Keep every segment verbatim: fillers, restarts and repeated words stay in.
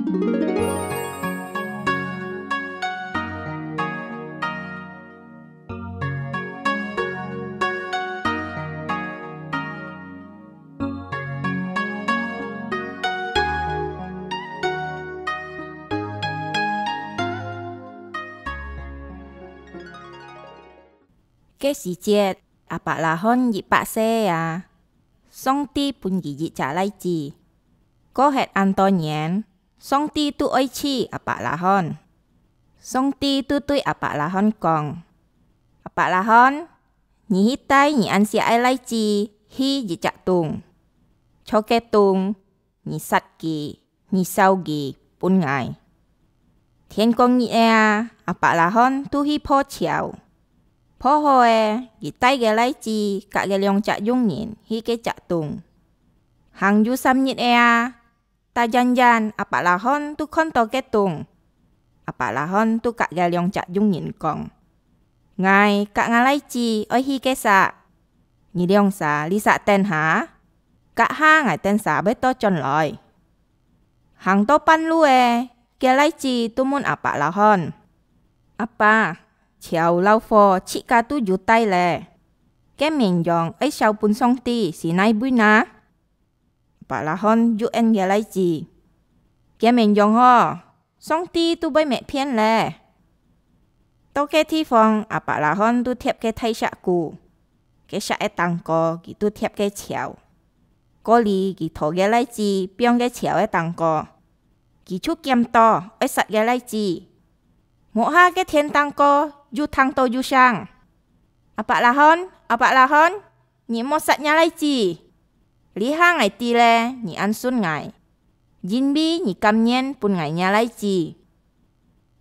該時節，亞伯拉罕一百歲啊，上帝分佢一隻倈子。過忒恁多年，上帝都愛試亞伯拉罕。上帝都對亞伯拉罕講：「亞伯拉罕，你去帶你恁惜个倈子去一隻洞，在該洞，你殺佢，你燒佢分𠊎。」天光日仔啊，亞伯拉罕都去破樵。破好仔，佢帶个倈子佮該兩隻佣人去該隻洞。行有三日仔啊， 突然間，亞伯拉罕都看到該洞。亞伯拉罕都佮該兩隻佣人講：「𠊎佮吾倈子愛去該儕，你兩儕這儕等下，隔下𠊎等儕會倒轉來。」行到半路仔，該倈子都問亞伯拉罕：「阿爸，樵摎火自家都有帶咧，該綿羊愛燒分上帝係哪位哪？」 亞伯拉罕又應該倈子：「該綿羊哦，上帝都會搣遍咧。」到該地方，亞伯拉罕都疊該大石牯，該石仔頂高佢都疊該樵。過哩佢拖該倈子放該樵仔頂高，佢就撿著愛殺个倈子。無下該天頂高又聽到有聲：「亞伯拉罕，亞伯拉罕， 你莫殺若倈子！這下𠊎知咧，你恁順𠊎，因為你甘願分𠊎若倈子。」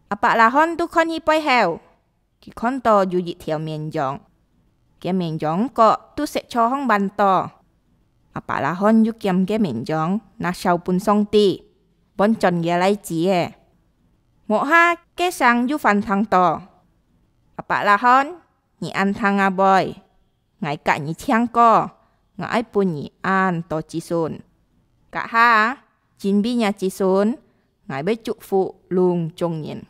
亞伯拉罕都看去背後，佢看到有一條綿羊，該綿羊角都食著䟘彎倒。亞伯拉罕又撿該綿羊拿燒分上帝，換轉个倈子仔。無下該聲又翻聽到：「亞伯拉罕，你恁聽啊會！ 𠊎佮你請過，𠊎愛分你恁多子孫。隔下，因為若子孫，𠊎會祝福攏總人。」